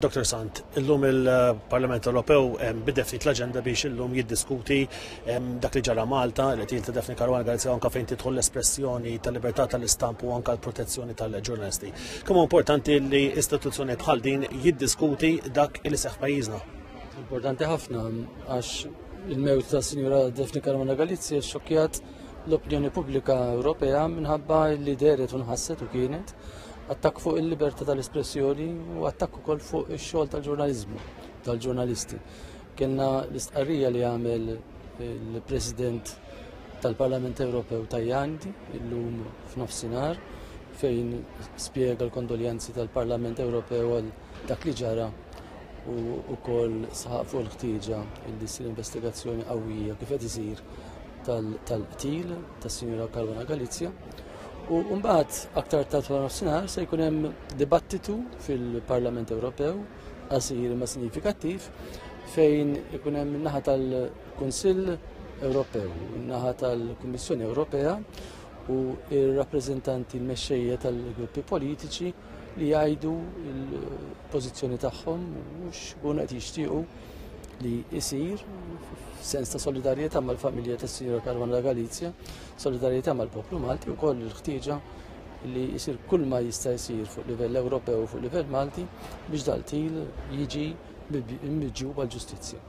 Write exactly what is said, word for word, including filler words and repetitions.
Dottor Sant, illum il-Parlament Ewropew bidel ftit l-aġenda biex illum jiddiskuti dak li ġara Malta, li ta' Daphne Caruana Galizia, anka fejn tidħol l-espressjoni tal-libertà tal-istamp u anka l-protezzjoni tal-ġurnalisti. Kemm importanti li istituzzjoni bħal din jiddiskuti dak li seħħ pajjiżna? Importanti ħafna, għax il-mewt ta' Sinjura Daphne Caruana Galizia xokjat l-opinjoni pubblika Ewropea minħabba li dehret u nħasset u kienet attakk fuq il-libertà tal-espressjoni u attakk ukoll fuq ix-xogħol tal-ġurnaliżmu, tal-ġurnalisti. Kellna l-istqarrija li għamel il-President tal-Parlament Ewropew Tajani illum f'nofsinhar, fejn spjega l-kondoljanzi tal-Parlament Ewropew għal dak li ġara u wkoll saħaq fuq il-ħtieġa li ssir investigazzjoni qawwija kif qed isir tal-qtil tas-Sinjura Caruana Galizia. U mbagħad aktar tard wara nofsinhar se jkun hemm dibattitu fil-Parlament Ewropew qasir ma sinifikattiv, fejn ikun hemm naħa tal-Kunsill Ewropew, naħa tal-Kummissjoni Ewropea u ir-rappreżentanti l-mexxejja tal-gruppi politiċi li jgħidu l-pożizzjoni tagħhom u x'kunu qed jixtiequ li jsir f'sens ta' solidarjetà mal-familja tas-Sinjura Caruana Galizia, solidarjetà mal-poplu Malti u koll il-ħtieġa li jsir kull ma jista' jsir fuq livell Ewropew u fuq livell Malti biex dal-qtil jiġi miġjub għall-ġustizzja.